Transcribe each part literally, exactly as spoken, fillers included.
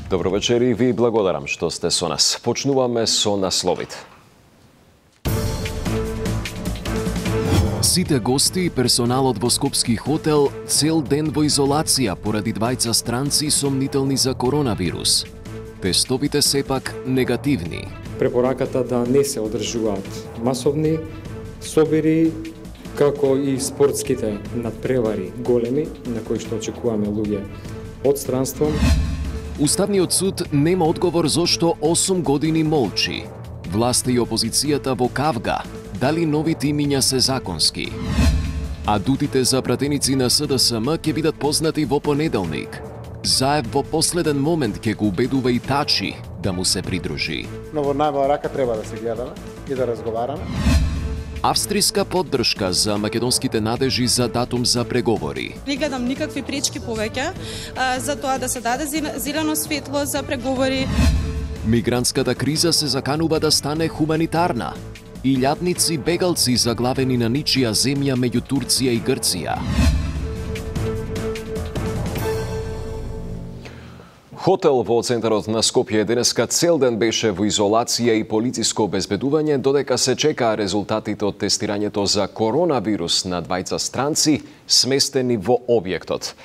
Добро вечер и ви благодарам што сте со нас. Почнуваме со насловите. Сите гости и персоналот во Скопски хотел цел ден во изолација поради двајца странци сомнителни за коронавирус. Тестовите сепак негативни. Препораката да не се одржуваат масовни собири, како и спортските надпревари големи, на кои што очекуваме луѓе од странство. Уставниот суд нема одговор зошто осум години молчи. Власта и опозицијата во кавга, дали новите имиња се законски. Адутите за пратеници на СДСМ ќе бидат познати во понеделник. Заев во последен момент ќе го убедува и Тачи да му се придружи. Но во најмала рака треба да се гледаме и да разговараме. Австријска поддршка за македонските надежи за датум за преговори. Не гледам никакви пречки повеќе за тоа да се даде зелено светло за преговори. Мигрантската криза се заканува да стане хуманитарна. Илјадници бегалци заглавени на ничија земја меѓу Турција и Грција. Хотел во центарот на Скопје денеска цел ден беше во изолација и полициско обезбедување, додека се чекаа резултатите од тестирањето за коронавирус на двајца странци сместени во објектот.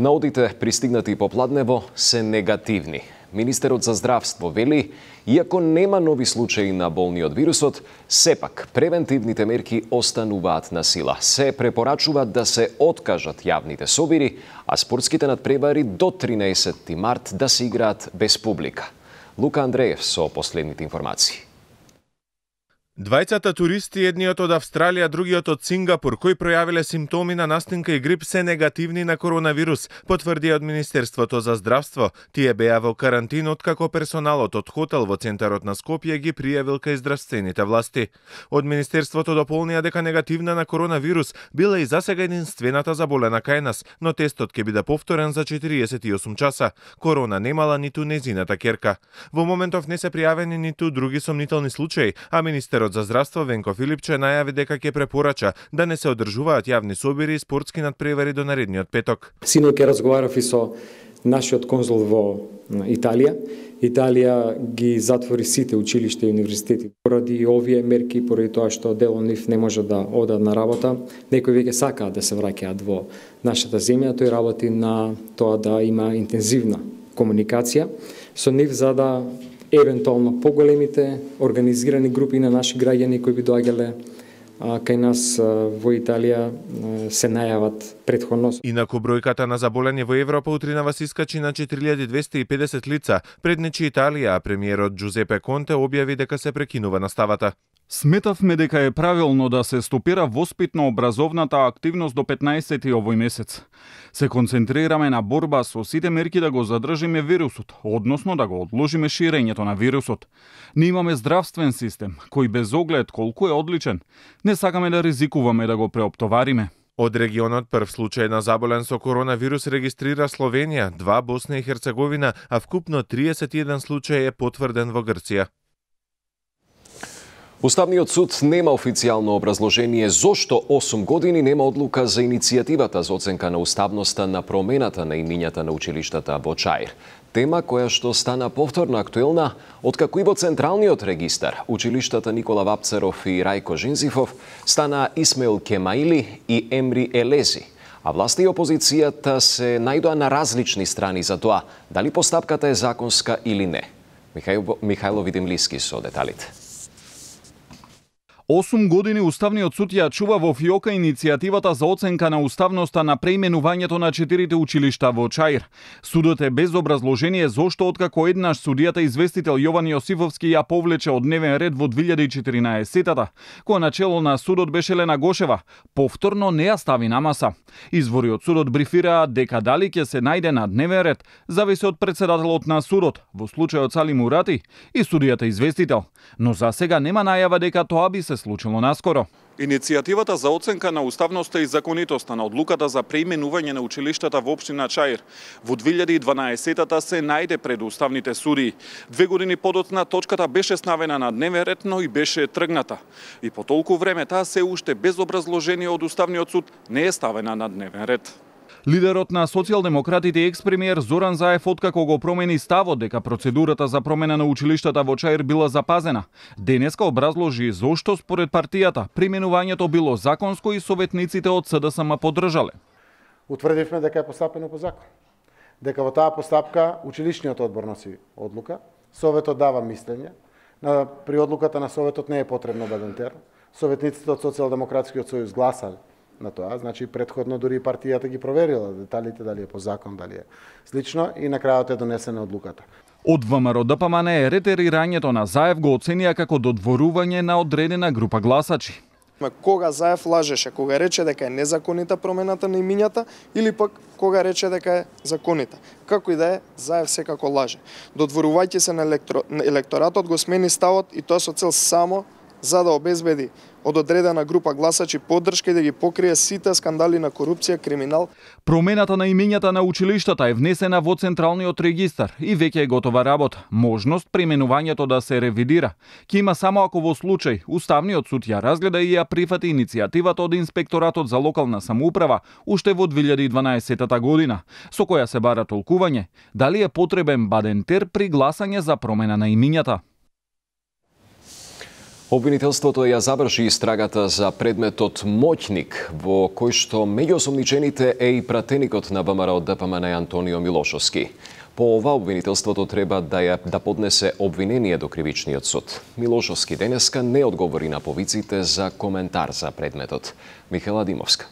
Наодите пристигнати попладнево се негативни. Министерот за здравство вели, иако нема нови случаи на болни од вирусот, сепак превентивните мерки остануваат на сила. Се препорачува да се откажат јавните собири, а спортските надпревари до тринаесетти март да се играат без публика. Лука Андреев со последните информации. Двајцата туристи, едниот од Австралија, другиот од Сингапур, кои пројавиле симптоми на настинка и грип, се негативни на коронавирус, потврди од Министерството за здравство. Тие беа во карантин откако персоналот од хотел во центарот на Скопје ги пријавил кај здравствените власти. Од Министерството дополнија дека негативна на коронавирус била и засега единствената заболена кај нас, но тестот ќе биде повторен за четириесет и осум часа. Корона немала ниту незината керка. Во моментов не се пријавени ниту други сомнителни случаи, а Министерот за здравство Венко Филипче најави дека ќе препорача да не се одржуваат јавни собири и спортски надпревари до наредниот петок. Синоќ ќе разговарав и со нашиот конзул во Италија. Италија ги затвори сите училишта и универзитети поради овие мерки, поради тоа што дел од нив не може да одат на работа. Некои веќе сакаат да се враќаат во нашата земја, тој работи на тоа да има интензивна комуникација со нив за да евентуално поголемите организирани групи на наши граѓани кои би доаѓале кај нас во Италија се најават претходно. Инаку бројката на заболени во Европа утринава се искачи на четири илјади двесте и педесет лица. Преднечи Италија, а премиерот Джузепе Конте објави дека се прекинува наставата. Сметавме дека е правилно да се стопира воспитно-образовната активност до петнаесети овој месец. Се концентрираме на борба со сите мерки да го задржиме вирусот, односно да го одложиме ширењето на вирусот. Не имаме здравствен систем, кој без оглед колку е одличен, не сакаме да ризикуваме да го преоптовариме. Од регионот прв случај на заболен со коронавирус регистрира Словенија, два Босна и Херцеговина, а вкупно триесет и еден случај е потврден во Грција. Уставниот суд нема официјално образложение зошто осум години нема одлука за иницијативата за оценка на уставноста на промената на имињата на училиштата во Чаир. Тема која што стана повторно актуелна откако и во Централниот регистар училиштата Никола Вапцаров и Рајко Жинзифов стана Исмаил Кемаили и Емри Елези. А власта и опозицијата се најдоа на различни страни за тоа дали постапката е законска или не. Михајло, Михајло Видимлиски со деталите. осум години Уставниот суд ја чува во фиока иницијативата за оценка на уставноста на преименувањето на четирите училишта во Чаир. Судот е без образложение зошто откако еднаш судијата известител Јован Јосифовски ја повлече од дневен ред во две илјади и четиринаесетта, која начело на судот беше Лена Гошева, повторно не ја стави на маса. Извори од судот брифираат дека дали ќе се најде на дневен ред зависи од претседателот на судот, во случајот Сали Мурати, и судијата известител, но за сега нема најава дека тоа би се случило наскоро. Иницијативата за оценка на уставноста и законитоста на одлуката за преименување на училиштата во општина Чаир во две илјади и дванаесетта се најде пред уставните суди. Две години подоцна точката беше ставена на дневен ред, но и беше тргната. И по толку време таа се уште без образложение од Уставниот суд не е ставена на дневен ред. Лидерот на социјалдемократите екс-премиер Зоран Заев откако го промени ставот дека процедурата за промена на училиштата во Чаир била запазена, денеска образложи зошто според партијата преименувањето било законско и советниците од СДСМ поддржале. Утврдивме дека е постапено по закон. Дека во таа постапка училишниот одбор носи одлука, советот дава мислење, на при одлуката на советот не е потребно бадентер. Советниците од Социјалдемократскиот сојуз гласале на тоа, значи предходно дури и партијата ги проверила деталите дали е по закон, дали е слично и на крајот е донесена одлуката. Од ВМРО Д П М Н Е ретерирањето на Заев го оценија како додворување на одредена група гласачи. Кога Заев лажеше, кога рече дека е незаконита промената на имињата или пак кога рече дека е законита. Како и да е, Заев секако лаже. Додворувајќи се на електро... електоратот го смени ставот и тоа со цел само за да обезбеди од одредена група гласачи поддршка и да ги покрие сите скандали на корупција, криминал. Промената на имињата на училиштата е внесена во Централниот регистар и веќе е готова работа. Можност преименувањето да се ревидира ќе има само ако во случај Уставниот суд ја разгледа и ја прифати иницијативата од Инспекторатот за локална самоуправа уште во две илјади и дванаесетта година, со која се бара толкување дали е потребен бадентер при гласање за промена на имињата. Обвинителството ја заврши истрагата за предметот моќник, во кој што меѓу осомничените е и пратеникот на ВМРО Д П М Н Антонио Милошовски. По ова обвинителството треба да ја да поднесе обвинение до кривичниот суд. Милошовски денеска не одговори на повиците за коментар за предметот. Михела Димовска.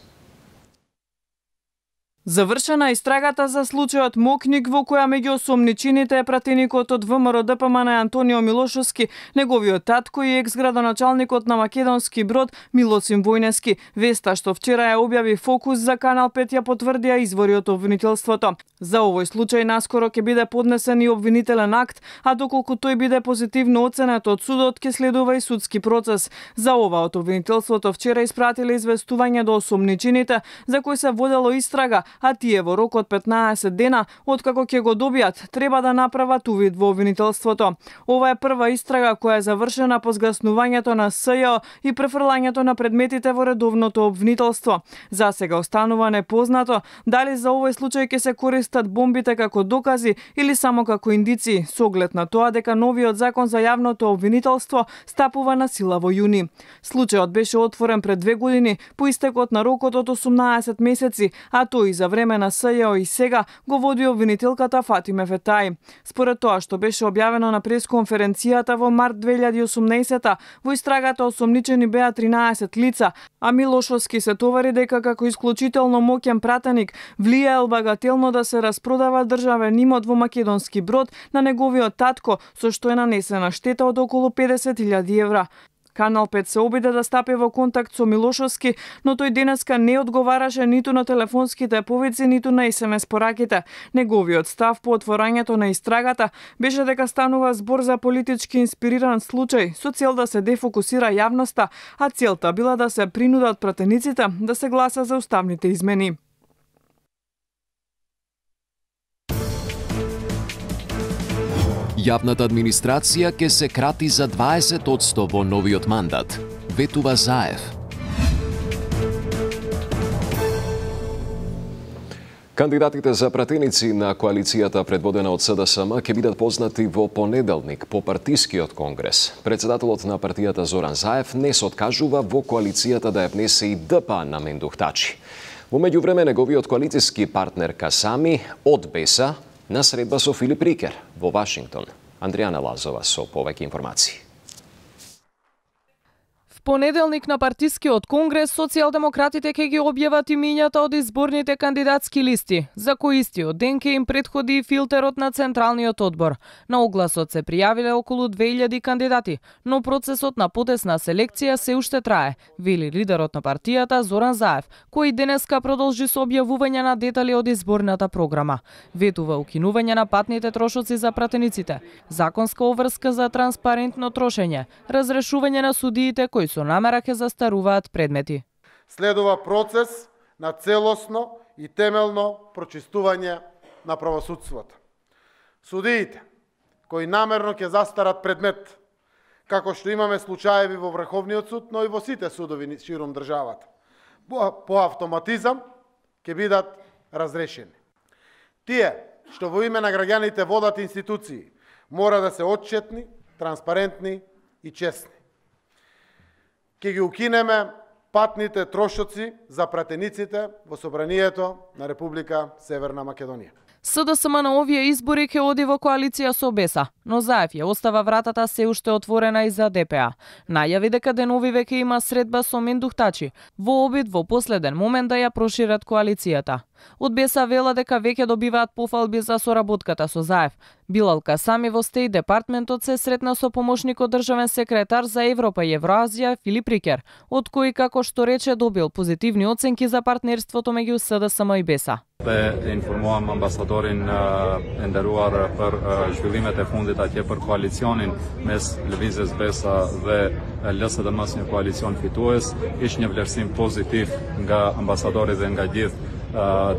Завршена истрагата за случајот Мокник, во која меѓу осомничените е пратеникот од ВМРО Д П М Н Антонио Милошовски, неговиот татко и екс-градоначалникот на Македонски Брод Милосим Војнески. Веста што вчера ја објави Фокус за Канал пет ја потврдија извори од обвинителството. За овој случај наскоро ќе биде поднесен и обвинителен акт, а доколку тој биде позитивно оценет од судот, ќе следува и судски процес. За ова од обвинителството вчера испратиле известување до осомничените за кои се водело истрага, а тие во рок од петнаесет дена, откако ќе го добијат, треба да направат увид во обвинителството. Ова е прва истрага која е завршена по згаснувањето на С Ј О и префрлањето на предметите во редовното обвинителство. За сега останува непознато дали за овој случај ќе се користат бомбите како докази или само како индици, со оглед на тоа дека новиот закон за јавното обвинителство стапува на сила во јуни. Случајот беше отворен пред две години по истекот на рокот од осумнаесет месеци, а тој за време на С Ј О и сега го води обвинителката Фатиме Фетај. Според тоа што беше објавено на пресконференцијата во март две илјади и осумнаесетта, во истрагата осомничени беа тринаесет лица, а Милошовски се товари дека како исклучително моќен пратеник влијаел багателно да се распродава државен имот во Македонски Брод на неговиот татко, со што е нанесена штета од околу педесет илјади евра. Канал пет се обиде да стапи во контакт со Милошовски, но тој денеска не одговараше ниту на телефонските повици, ниту на ес ем ес пораките. Неговиот став по отворањето на истрагата беше дека станува збор за политички инспириран случај со цел да се дефокусира јавноста, а целта била да се принудат пратениците да се гласа за уставните измени. Јавната администрација ќе се крати за дваесет одсто во новиот мандат, ветува Заев. Кандидатите за пратеници на коалицијата предводена од С Д С М ќе бидат познати во понеделник по партискиот конгрес. Председателот на партијата Зоран Заев не се откажува во коалицијата да ја внесе и Д П на Мендух Тачи. Во меѓувреме неговиот коалицијски партнер Касами одбеса на средба со Филип Рикер во Вашингтон. Андријана Лазова со повеќе информации. Понеделник на партискиот конгрес социјалдемократите ќе ги објават имињата од изборните кандидатски листи, за кои истиот ден ќе им претходи и филтерот на Централниот одбор. На огласот се пријавиле околу две илјади кандидати, но процесот на потесна селекција се уште трае, вели лидерот на партијата Зоран Заев, кој денеска продолжи со објавување на детали од изборната програма. Ветува укинување на патните трошоци за пратениците, законска обврска за транспарентно трошење, разрешување на судиите кои со намера ќе застаруваат предмети. Следува процес на целосно и темелно прочистување на правосудството. Судиите кои намерно ќе застарат предмет, како што имаме случаеви во Врховниот суд, но и во сите судови широм државата, по автоматизам ќе бидат разрешени. Тие што во име на граѓаните водат институции мора да се отчетни, транспарентни и честни. Ке ги укинеме патните трошоци за пратениците во собранието на Република Северна Македонија. СДСМ на овие избори ќе оди во коалиција со Беса, но Заев ја остава вратата се уште отворена и за ДПА. Најави дека денови веќе има средба со Мендухтачи, во обид во последен момент да ја прошират коалицијата. Од Беса вела дека веќе добиваат пофалби за соработката со Заев. Билал Касами во Стејт департментот се сретна со помошникот државен секретар за Европа и Евроазија Филип Рикер, од кој, како што рече, добил позитивни оценки за партнерството меѓу СДСМ и Беса. Dhe informuam ambasadorin e nderuar për zhvillimet e fundit atje për koalicionin mes Lëvizjes Besa dhe L S D M-s, një koalicion fitues. Ishte një vlerësim pozitiv nga ambasadori dhe nga gjithë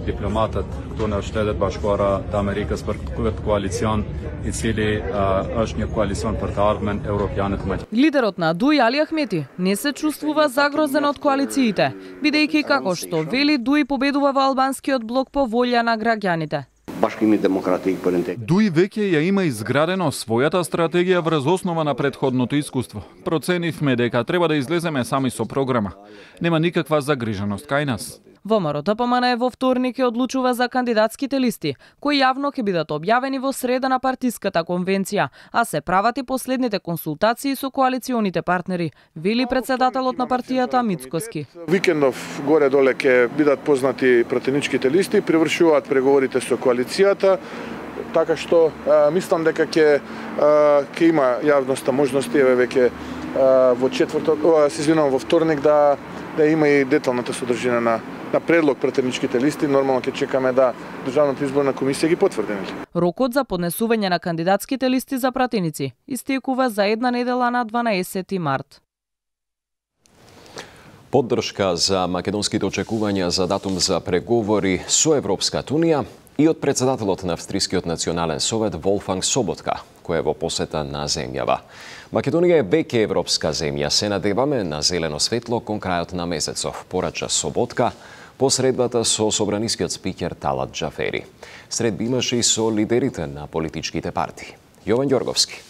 diplomatët këtu në Shtetet Bashkuara të Amerikës për këtë koalicion, i cili është një koalicion për të ardhmen europiane të Maqedonisë. Лидерот на Дуј Али Ахмети не се чувствува загрозен од коалициите, бидејќи како што вели Дуј победува во албанскиот блок по волја на граѓаните. Дуј веќе ја има изградено својата стратегија врз основа на претходното искуство. Проценивме дека треба да излеземе сами со програма. Нема никаква загриженост кај нас. ВМРО Д П М Н во вторник ќе одлучува за кандидатските листи, кои јавно ќе бидат објавени во среда на партиската конвенција, а се прават и последните консултации со коалиционите партнери, вели председателот на партијата Мицкоски. Викендов горе-доле ќе бидат познати пратеничките листи, привршуваат преговорите со коалицијата, така што а, мислам дека ќе ќе има јавноста можности еве веќе во четврток, се извинувам, во вторник да да има и деталната содржина на на предлог пратеничките листи. Нормално ќе чекаме да Државната изборна комисија ги потврди. Рокот за поднесување на кандидатските листи за пратеници истекува за една недела на дванаесети март. Поддршка за македонските очекувања за датум за преговори со Европската унија и од председателот на Австрискиот национален совет Волфганг Соботка, кој е во посета на земјава. Македонија е веќе европска земја. Се надеваме на зелено светло кон крајот на месецов, порача Соботка по средбата со собранискиот спикер Талат Џафери. Средби имаше и со лидерите на политичките партии. Јован Ѓорговски.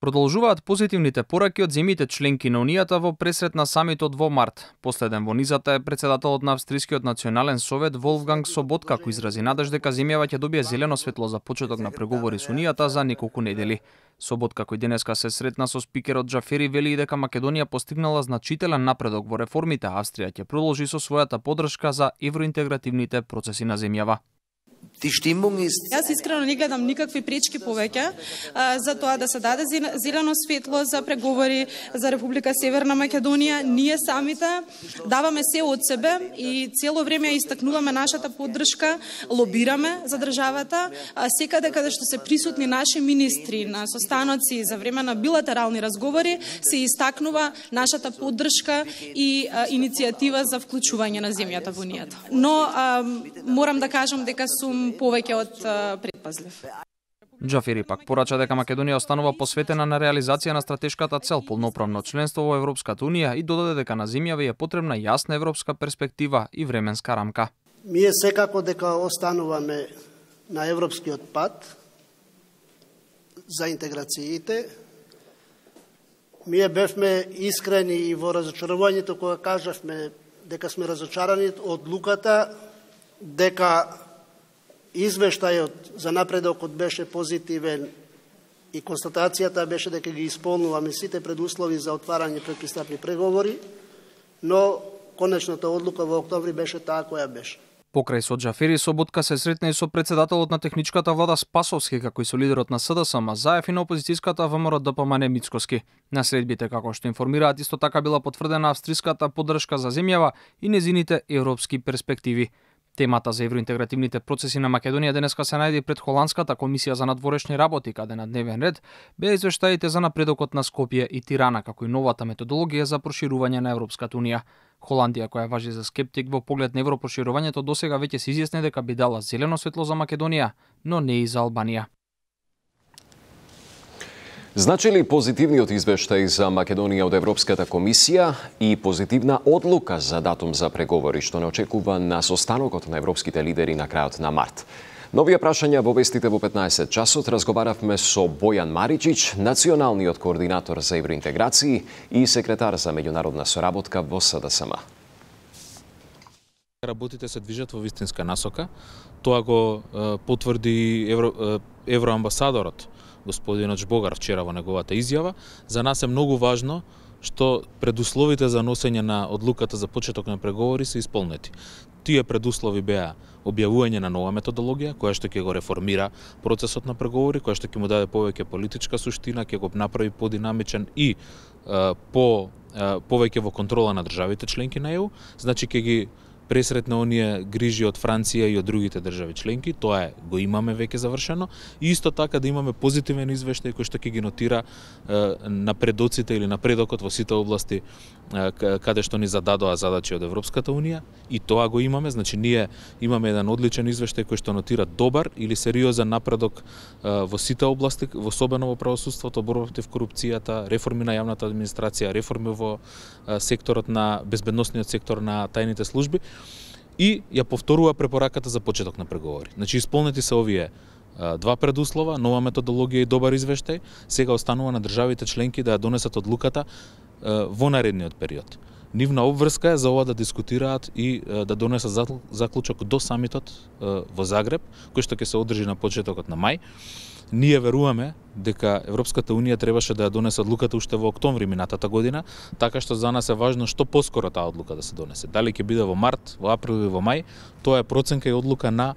Продолжуваат позитивните пораки од земјите членки на Унијата во пресрет на самитот во март. Последен во низата е председателот на Австрискиот национален совет Волфганг Соботка, кој изрази надеж дека земјава ќе добие зелено светло за почеток на преговори со Унијата за неколку недели. Соботка, кој денеска се сретна со спикерот Џафери, вели и дека Македонија постигнала значителен напредок во реформите, а Австрија ќе продолжи со својата поддршка за евроинтегративните процеси на земјава. Јас искрено не гледам никакви пречки повеќе а, за тоа да се даде зелено светло за преговори за Република Северна Македонија. Ние самите даваме се од себе и цело време истакнуваме нашата поддршка, лобираме за државата, а секаде каде што се присутни наши министри на состаноци за време на билатерални разговори, се истакнува нашата поддршка и а, иницијатива за вклучување на земјата во Унијата. Но а, морам да кажам дека сум повеќе од предпазлив. Џафери пак порача дека Македонија останува посветена на реализација на стратешката цел полноправно членство во Европската унија и додаде дека на земјава е потребна јасна европска перспектива и временска рамка. Ние секако дека остануваме на европскиот пат за интеграциите. Ние бевме искрени и во разочарувањето кога кажавме дека сме разочарани од одлуката, дека извештајот за напредокот беше позитивен и констатацијата беше дека ги исполнуваме сите предуслови за отварање предпристапни преговори, но конечната одлука во октомври беше таа која беше. Покрај со Џафери, Соботка се сретна и со председателот на техничката влада Спасовски, како и со лидерот на СДСМ Заев и на опозицијската ВМРО Д П М Н Мицкоски. На средбите, како што информираат, исто така била потврдена австриската поддршка за земјава и незините европски перспективи. Темата за евроинтегративните процеси на Македонија денеска се најде пред Холандската комисија за надворешни работи, каде на дневен ред беа извештаите за напредокот на Скопје и Тирана, како и новата методологија за проширување на Европската унија. Холандија, која важи за скептик во поглед на европроширувањето, досега веќе се изјасни дека би дала зелено светло за Македонија, но не и за Албанија. Значи ли позитивниот извештај за Македонија од Европската комисија и позитивна одлука за датум за преговори што не очекува на состанокот на европските лидери на крајот на март? Нови прашања во вестите во петнаесет часот разговаравме со Бојан Маричич, националниот координатор за евроинтеграции и секретар за меѓународна соработка во С Д С М. Работите се движат во вистинска насока. Тоа го е, потврди евро, е, евроамбасадорот господинот Жбогар вчера во неговата изјава. За нас е многу важно што предусловите за носење на одлуката за почеток на преговори се исполнети. Тие предуслови беа објавување на нова методологија, која што ќе го реформира процесот на преговори, која што ќе му даде повеќе политичка суштина, ќе го направи подинамичен и е, по е, повеќе во контрола на државите членки на Е У, значи ќе ги пресретна оние грижи од Франција и од другите држави членки, тоа е, го имаме веќе завршено, и исто така да имаме позитивен извештај кој што ќе ги нотира е, напредоците или напредокот во сите области е, каде што ни зададоа задачи од Европската Унија, и тоа го имаме, значи ние имаме еден одличен извештај кој што нотира добар или сериозен напредок е, во сите области, особено во правосудството, борба против корупцијата, реформи на јавната администрација, реформи во е, секторот на безбедносниот сектор на тајните служби. И ја повторува препораката за почеток на преговори. Значи, исполнети се овие а, два предуслова, нова методологија и добар извештај, сега останува на државите членки да ја донесат одлуката а, во наредниот период. Нивна обврска е за ова да дискутираат и а, да донесат заклучок до самитот а, во Загреб, кој што ќе се одржи на почетокот на мај. Ние веруваме дека Европската Унија требаше да ја донесе одлуката уште во октомври минатата година, така што за нас е важно што поскоро таа одлука да се донесе. Дали ќе биде во март, во април или во мај, тоа е проценка и одлука на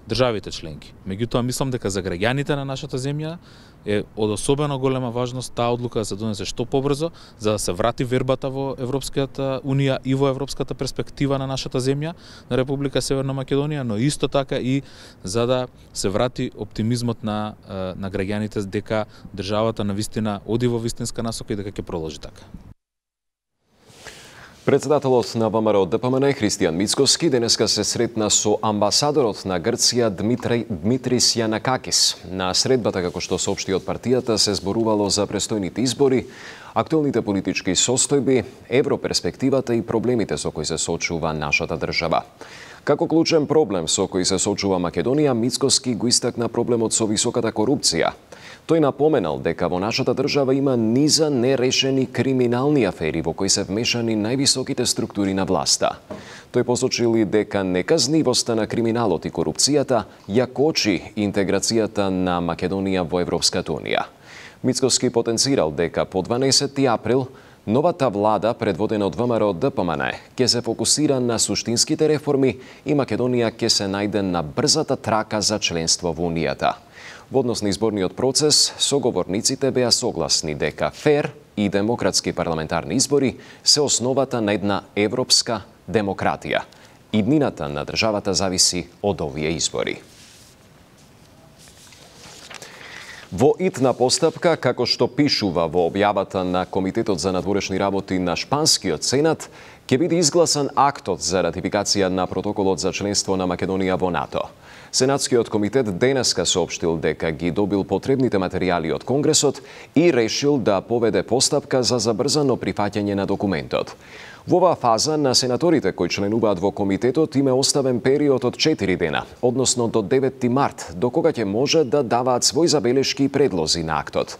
државите членки. Меѓутоа, мислам дека за граѓаните на нашата земја е од особено голема важност таа одлука да се донесе што побрзо, за да се врати вербата во Европската Унија и во европската перспектива на нашата земја, на Република Северна Македонија, но исто така и за да се врати оптимизмот на, на граѓаните дека државата на вистина оди во вистинска насока и дека ќе продолжи така. Председателот на Вэ М Р Д П М Н Христијан Мицкоски денеска се сретна со амбасадорот на Грција Дмитри, Дмитрис Јанакакис. На средбата, како што соопшти од партијата, се зборувало за престојните избори, актуелните политички состојби, европерспективата и проблемите со кои се соочува нашата држава. Како клучен проблем со кој се соочува Македонија, Мицкоски го истакна проблемот со високата корупција. Тој напоменал дека во нашата држава има низа нерешени криминални афери во кои се вмешани највисоките структури на власта. Тој посочил и дека неказнивоста на криминалот и корупцијата ја кочи интеграцијата на Македонија во Европската Унија. Мицкоски потенцирал дека по дванаесети април новата влада, предводена од Вэ М Р Д П М Н, ќе се фокусира на суштинските реформи и Македонија ќе се најде на брзата трака за членство во Унијата. Во однос на изборниот процес, соговорниците беа согласни дека фер и демократски парламентарни избори се основата на една европска демократија. Иднината на државата зависи од овие избори. Во итна постапка, како што пишува во објавата на Комитетот за надворешни работи на Шпанскиот Сенат, ќе биде изгласан актот за ратификација на протоколот за членство на Македонија во НАТО. Сенатскиот комитет денеска соопштил дека ги добил потребните материјали од Конгресот и решил да поведе постапка за забрзано прифаќање на документот. Во оваа фаза на сенаторите кои членуваат во комитетот им е оставен период од четири дена, односно до деветти март, до кога ќе може да даваат своји забелешки и предлози на актот.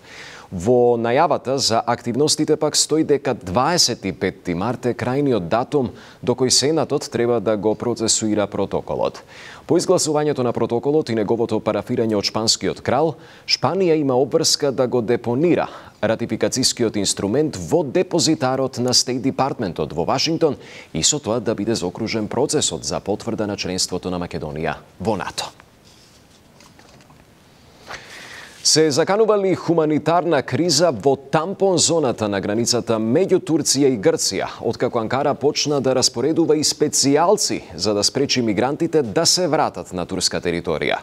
Во најавата за активностите пак стои дека дваесет и петти март е крајниот датум до кој Сенатот треба да го процесуира протоколот. По изгласувањето на протоколот и неговото парафирање од шпанскиот крал, Шпанија има обврска да го депонира ратификацијскиот инструмент во депозитарот на Стейт Департментот во Вашингтон и со тоа да биде заокружен процесот за потврда на членството на Македонија во НАТО. Се заканува ли хуманитарна криза во тампон зоната на границата меѓу Турција и Грција, откако Анкара почна да распоредува и специјалци за да спречи мигрантите да се вратат на турска територија.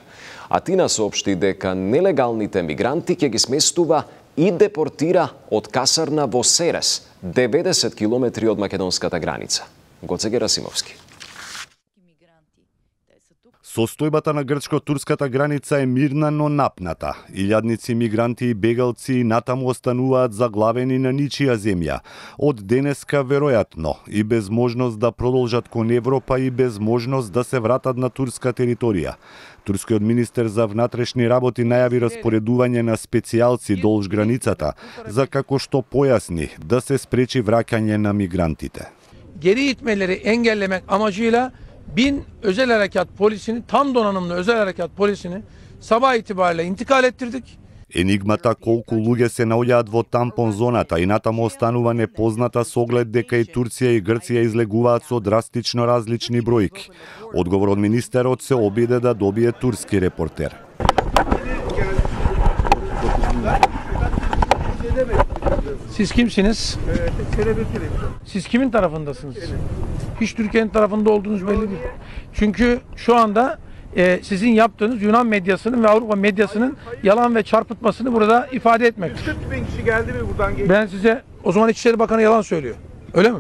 Атина соопшти дека нелегалните мигранти ќе ги сместува и депортира од касарна во Серес, деветдесет километри од македонската граница. Гоце Герасимовски. Состојбата на грчко-турската граница е мирна, но напната. Илјадници мигранти и бегалци натаму остануваат заглавени на ничија земја. Од денеска веројатно и без можност да продолжат кон Европа и без можност да се вратат на турска територија. Турскиот министер за внатрешни работи најави распоредување на специјалци долж границата, за како што појасни да се спречи враќање на мигрантите. Geri itmeleri engellemek amacıyla bin özel harekat polisini, tam donanımlı özel harekat polisini sabah itibariyle intikal ettirdik. Енигмата колку луѓе се наоѓаат во тампон зоната и натаму останува непозната со оглед дека и Турција и Грција излегуваат со драстично различни бројки. Одговор од министерот се обиде да добие турски репортер. Siz kimsiniz? Siz kimin tarafındasınız? Hiç Türkiye'nin tarafında olduğunuz belli değil. Çünkü şu anda e, sizin yaptığınız Yunan medyasının ve Avrupa medyasının yalan ve çarpıtmasını burada ifade etmek. yüz kırk bin kişi geldi mi buradan geçti? Ben size o zaman İçişleri Bakanı yalan söylüyor. Öyle mi?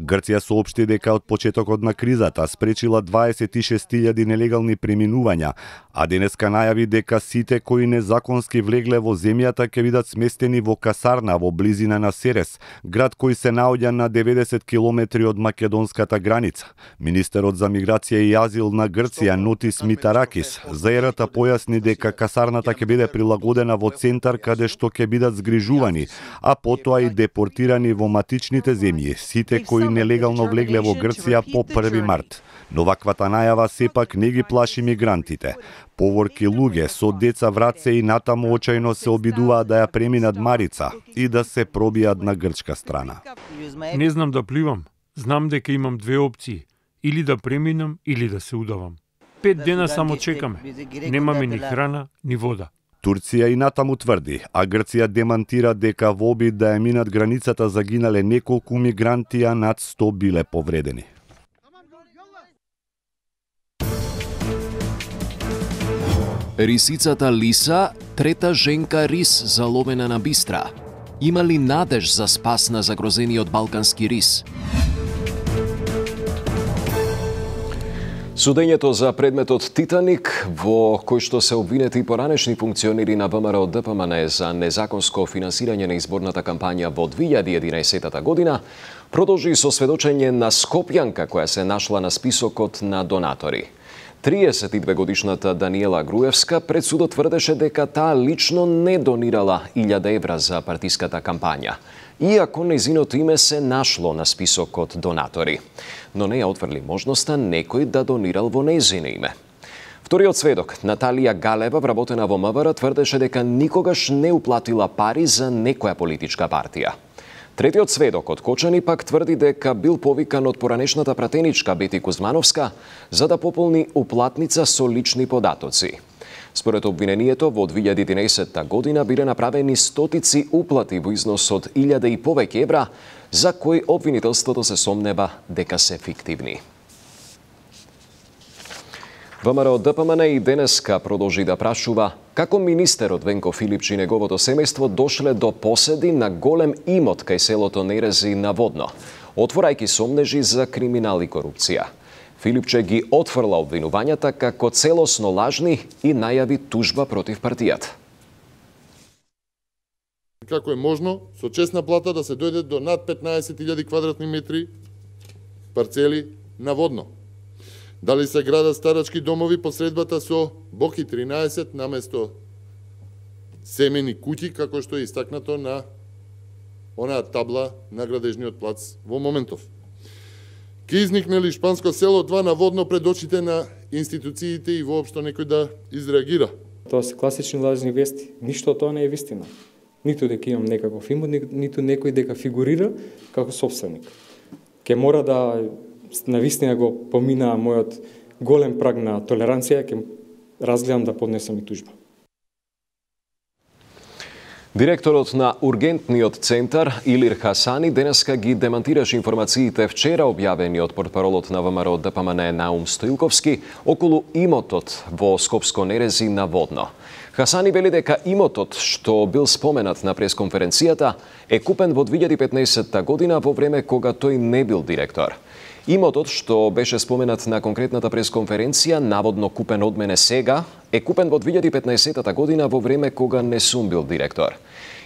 Грција соопшти дека од почетокот на кризата спречила дваесет и шест илјади нелегални преминувања, а денеска најави дека сите кои незаконски влегле во земјата ќе бидат сместени во касарна во близина на Серес, град кој се наоѓа на деветдесет километри од македонската граница. Министерот за миграција и азил на Грција Нотис Митаракис за ерата појасни дека касарната ќе биде прилагодена во центар каде што ќе бидат згрижувани, а потоа и депортирани во матичните земји сите кои нелегално влегле во Грција по први март. Но ваквата најава сепак не ги плаши мигрантите. Поворки луѓе со деца врат се и натаму очајно се обидуваат да ја преминат Марица и да се пробијат на грчка страна. Не знам да пливам. Знам дека имам две опции. Или да преминам, или да се удавам. Пет дена само чекаме. Немаме ни храна, ни вода. Турција и натаму тврди, а Грција демантира дека во обид да ја минат границата загинале неколку мигранти, а над сто биле повредени. Рисицата Лиса, трета женка рис заловена на Бистра. Има ли надеж за спас на загрозениот балкански рис? Судењето за предметот Титаник, во кој што се обвинети поранешни функционери на ВМРО Д П М Н за незаконско финансирање на изборната кампања во две илјади и единаесета година, продолжи со сведочење на Скопјанка која се нашла на списокот на донатори. триесет и две годишната Даниела Груевска пред судот тврдеше дека таа лично не донирала илјада евра за партиската кампања, иако нејзиното име се нашло на списокот донатори, но не ја отврли можноста некој да донирал во нејзино име. Вториот сведок, Наталија Галева, вработена во М В Р, тврдеше дека никогаш не уплатила пари за некоја политичка партија. Третиот сведок од Кочани пак тврди дека бил повикан од поранешната пратеничка Бети Кузмановска за да пополни уплатница со лични податоци. Според обвинението, во две илјади и единаесета година биле направени стотици уплати во износ од илјада и повеќе евра, за кои обвинителството се сомнева дека се фиктивни. ВМРО Д П М Н и денеска продолжи да прашува како министерот Венко Филипчи и неговото семејство дошле до поседи на голем имот кај селото Нерези на Водно, отворајќи сомнежи за криминал и корупција. Филипче ги отфрла обвинувањата како целосно лажни и најави тужба против партијата. Како е можно со честна плата да се дојде до над петнаесет илјади квадратни метри парцели на Водно? Дали се градат старачки домови по средбата со Боки тринаесет наместо семени куќи, како што е истакнато на онаа табла на градежниот плац во моментов? Ке изникне ли шпанско село два на Водно пред очите на институциите и воопшто некој да изреагира? Тоа се класични лажни вести. Ништо од тоа не е вистина. Ниту дека имам некаков имот, ниту некој дека фигурира како собственик. Ке мора да навистина го помина мојот голем праг на толеранција, ќе разгледам да поднесам и тужба. Директорот на Ургентниот центар Илир Хасани денеска ги демантираше информациите вчера објавени од портпаролот на ВМРО Д П М Н Наум Стоилковски околу имотот во Скопско Нерези на Водно. Хасани вели дека имотот што бил споменат на пресконференцијата е купен во две илјади и петнаесета година во време кога тој не бил директор. Имотот што беше споменат на конкретната пресконференција, наводно купен од мене сега, е купен во две илјади и петнаесетта година во време кога не сум бил директор.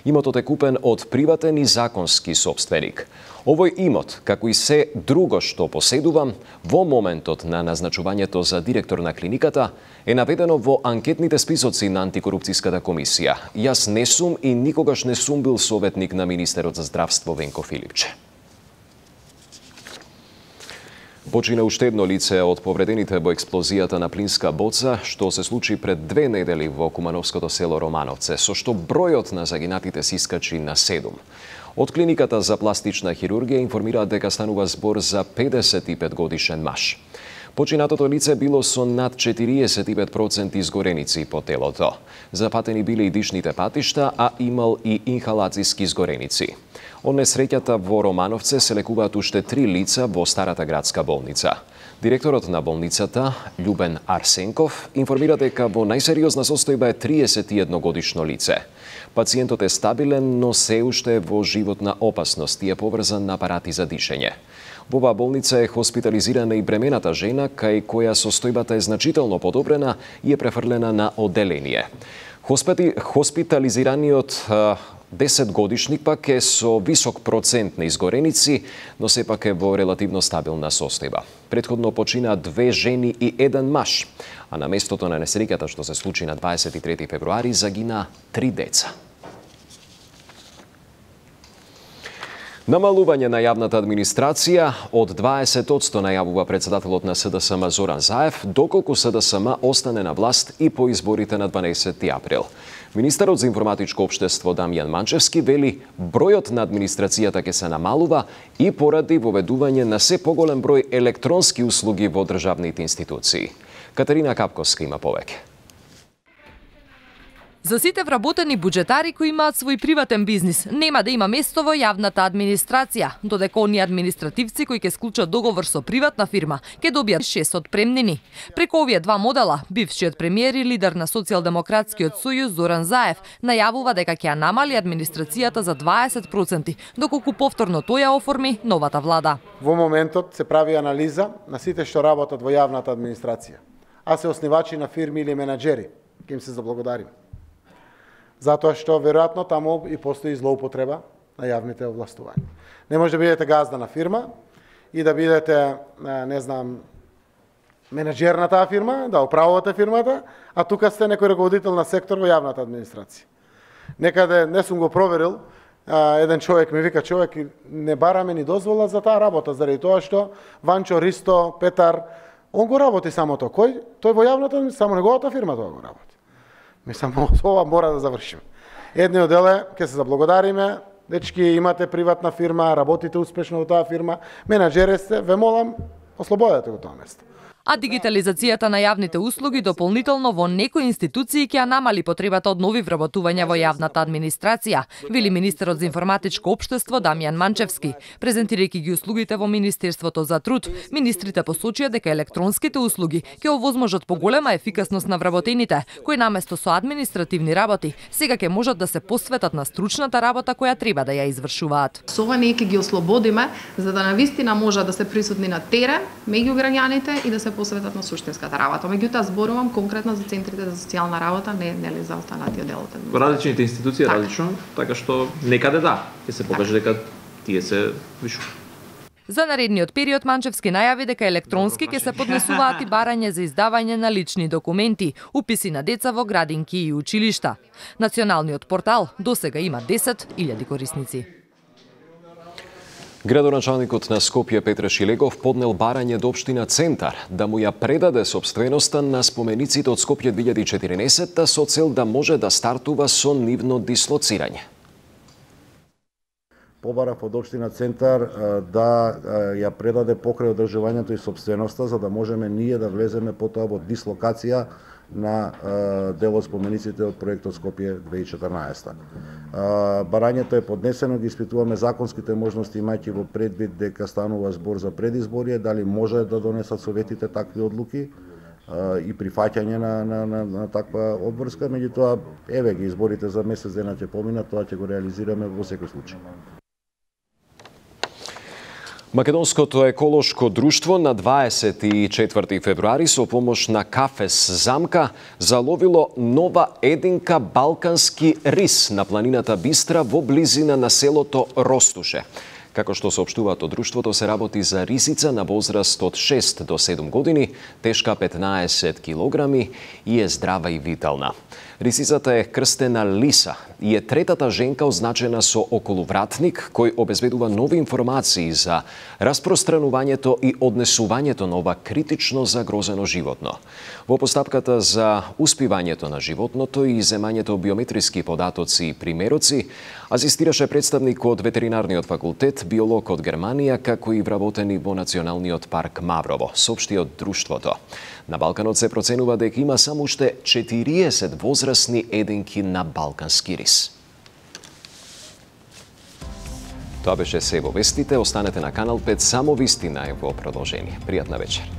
Имотот е купен од приватен и законски собственик. Овој имот, како и се друго што поседувам, во моментот на назначувањето за директор на клиниката, е наведено во анкетните списоци на антикорупцијската комисија. Јас не сум и никогаш не сум бил советник на министерот за здравство Венко Филипче. Почина уште едно лице од повредените во експлозијата на плинска боца, што се случи пред две недели во кумановското село Романовце, со што бројот на загинатите се искачи на седум. Од клиниката за пластична хирургија информираат дека станува збор за педесет и пет годишен маж. Починатото лице било со над четириесет и пет проценти изгореници по телото. Запатени биле и дишните патишта, а имал и инхалацијски изгореници. Од несреќата во Романовце се лекуваат уште три лица во старата градска болница. Директорот на болницата, Љубен Арсенков, информира дека во најсериозна состојба е триесет и едно годишно лице. Пациентот е стабилен, но се уште е во животна опасност и е поврзан на апарати за дишење. Во оваа болница е хоспитализирана и бремената жена, кај која состојбата е значително подобрена и е префрлена на одделение. Хоспити... Хоспитализираниот десет годишник пак е со висок процент на изгореници, но сепак е во релативно стабилна состојба. Претходно почина две жени и еден маж, а на местото на несреќата што се случи на дваесет и трети февруари загина три деца. Намалување на јавната администрација од дваесет одсто најавува председателот на СДСМ Зоран Заев, доколку СДСМ остане на власт и по изборите на дванаесети април. Министерот за информатичко општество Дамјан Манчевски вели бројот на администрацијата ќе се намалува и поради воведување на се поголем број електронски услуги во државните институции. Катерина Капковска има повеќе. За сите вработени буџетари кои имаат свој приватен бизнис, нема да има место во јавната администрација, додека оние административци кои ќе склучат договор со приватна фирма, ќе добијат шест отпремнини. Преку овие два модела, бившиот премиер и лидер на Социјалдемократскиот сојуз Зоран Заев најавува дека ќе ја намали администрацијата за дваесет проценти, доколку повторно тој ја оформи новата влада. Во моментот се прави анализа на сите што работат во јавната администрација, а се оснивачи на фирми или менаџери, ќе им се заблагодарим. Затоа што веројатно таму и постои злоупотреба на јавните овластувања. Не може да бидете газда на фирма и да бидете, не знам, менеджер на таа фирма, да управувате фирмата, а тука сте некој раководител на сектор во јавната администрација. Некаде, не сум го проверил, еден човек ми вика, човек, не бараме ни дозвола за таа работа, заради тоа што Ванчо, Ристо, Петар, он го работи само тоа. Кој? Тој во јавната, само неговата фирма тоа го работи. Ми само ова мора да завршиме. Едниот дел е, ќе се заблагодариме, дечки имате приватна фирма, работите успешно во таа фирма, менаџери сте, ве молам, ослободете го тоа место. А дигитализацијата на јавните услуги дополнително во некои институции ќе ја намали потребата од нови вработувања во јавната администрација, вели министерот за информатичко општество Дамјан Манчевски. Презентирајќи ги услугите во Министерството за труд, министрите посочија дека електронските услуги ќе овозможат поголема ефикасност на вработените, кои наместо со административни работи, сега ќе можат да се посветат на стручната работа која треба да ја извршуваат. Со ова ние ќе ги ослободиме за да навистина можат да се присутни на терен меѓу граѓаните и да се посветат на суштинската работа. Меѓутоа зборувам конкретно за центрите за социјална работа, не нели за останатиот дел од Во различните институции така. Различно, така што некаде да, ќе се покаже дека тие се вишу. За наредниот период Манчевски најави дека електронски ќе се поднесуваат и барање за издавање на лични документи, уписи на деца во градинки и училишта. Националниот портал досега има десет илјади корисници. Градоначалникот на Скопје Петре Шилегов поднел барање до општина Центар да му ја предаде собственоста на спомениците од Скопје две илјади и четирнаесетта со цел да може да стартува со нивно дислоцирање. Побарав од општина Центар да ја предаде покрај одржувањето и собственоста за да можеме ние да влеземе потоа во дислокација на дел од спомениците од проектот Скопје две илјади и четрнаесетта. Барањето е поднесено, ги испитуваме законските можности имајќи во предвид дека станува збор за предизборие, дали може да донесат советите такви одлуки и прифаќање на, на, на, на таква обврска, меѓутоа еве ги изборите за месец дена ќе поминат, тоа ќе го реализираме во секој случај. Македонското еколошко друштво на дваесет и четврти февруари со помош на Кафес Замка заловило нова единка балкански рис на планината Бистра во близина на селото Ростуше. Како што соопштуваат од друштвото, се работи за рисица на возраст од шест до седум години, тешка петнаесет килограми и е здрава и витална. Рисицата е крстена Лиса и е третата женка означена со околувратник кој обезбедува нови информации за распространувањето и однесувањето на ова критично загрозено животно. Во постапката за успивањето на животното и земањето биометриски податоци и примероци, асистираше представник од ветеринарниот факултет, биолог од Германија, како и вработени во Националниот парк Маврово, соопшти од друштвото. На Балканот се проценува дека има само уште четириесет возрастни единки на балкански рис. Тоа беше се во вестите. Останете на Канал пет, само вистина е во продолжение. Пријатна вечер.